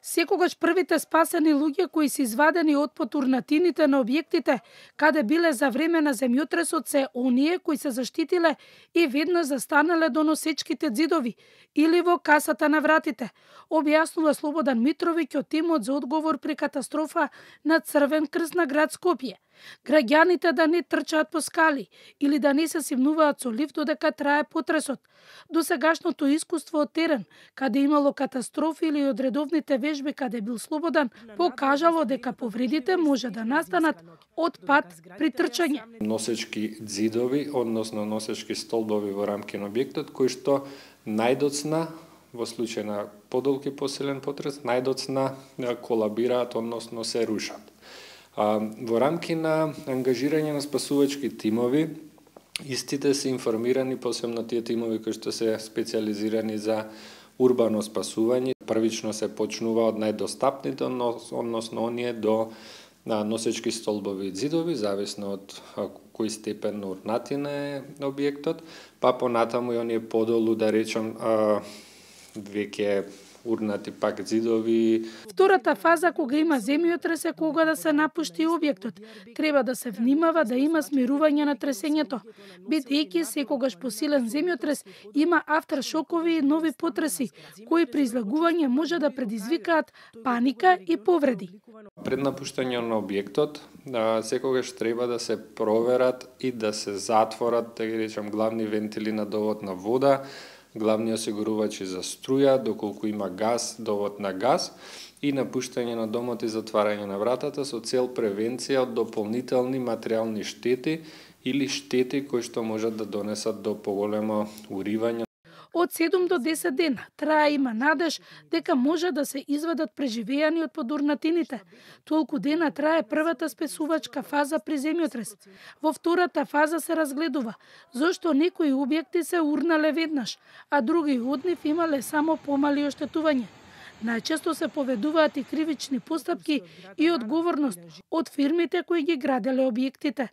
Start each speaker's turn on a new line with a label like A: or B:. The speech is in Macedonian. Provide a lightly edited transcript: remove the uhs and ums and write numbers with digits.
A: Секогаш првите спасени луѓе кои се извадени од потурнатините на објектите каде биле за време на земјотресот се оние кои се заштитиле и веднаш застанале до носечките ѕидови или во касата на вратите, објаснува Слободан Митровиќ од тимот за одговор при катастрофа на Црвен крст на град Скопје. Граѓаните да не трчаат по скали или да не се симнуваат со лифт додека трае потресот. Досегашното искуство од терен, каде имало катастрофи или од редовните вежби каде бил Слободан, покажало дека повредите може да настанат од пат при трчање.
B: Носечки ѕидови, односно носечки столбови во рамки на објектот, кои што најдоцна, во случај на подолг и посилен потрес, најдоцна колабираат, односно се рушат. Во рамки на ангажирање на спасувачки тимови, истите се информирани, посебно тие тимови кои што се специализирани за урбано спасување. Првично се почнува од најдостапните, односно оние до носечки столбови и ѕидови, зависно од кој степен на урнатина е објектот, па понатаму и оние подолу, да речем, веќе урнати пак ѕидови.
A: Втората фаза кога има земјотрес е кога да се напушти објектот. Треба да се внимава да има смирување на тресењето, бидејќи секогаш посилен земјотрес има автершокови и нови потреси, кои при излагување може да предизвикаат паника и повреди.
B: Пред напуштање на објектот, секогаш треба да се проверат и да се затворат, да ги речем, главни вентили на довод на вода, главни осигурувачи за струја, доколку има газ, довод на газ, и напуштање на домот и затварање на вратата со цел превенција од дополнителни материјални штети или штети кои што можат да донесат до поголемо уривање.
A: Од 7 до 10 дена трае има надеж дека може да се извадат преживеани од подурнатините. Толку дена трае првата спасувачка фаза при земјотрес. Во втората фаза се разгледува зошто некои објекти се урнале веднаш, а други од нив имале само помали оштетување. Најчесто се поведуваат и кривични постапки и одговорност од фирмите кои ги граделе објектите.